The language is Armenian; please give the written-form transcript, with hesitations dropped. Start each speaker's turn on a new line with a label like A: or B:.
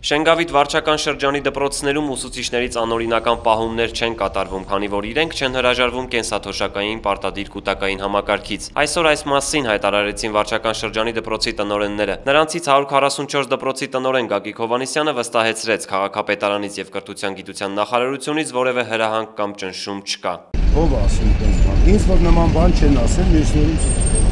A: Շենգավիթ վարչական շրջանի դպրոցներում ուսուցիչներից անօրինական պահումներ չեն կատարվում, քանի որ իրենք չեն հրաժարվում կենսաթոշակային պարտադիր կուտակային համակարգից։ Այսօր այս մասին հայտարարեցին վարչական շրջանի դպրոցի տնօրենները։ Նրանցից 144 դպրոցի տնօրեն Գագիկ Հովհաննիսյանը վստահեցրեց, քաղաքապետարանից եւ կրթության գիտության նախարարությունից որևէ հրահանգ կամ ճնշում չկա։
B: Ով ասում տես բան։ Ինձ որ նման բան չեն ասել, մյուսներին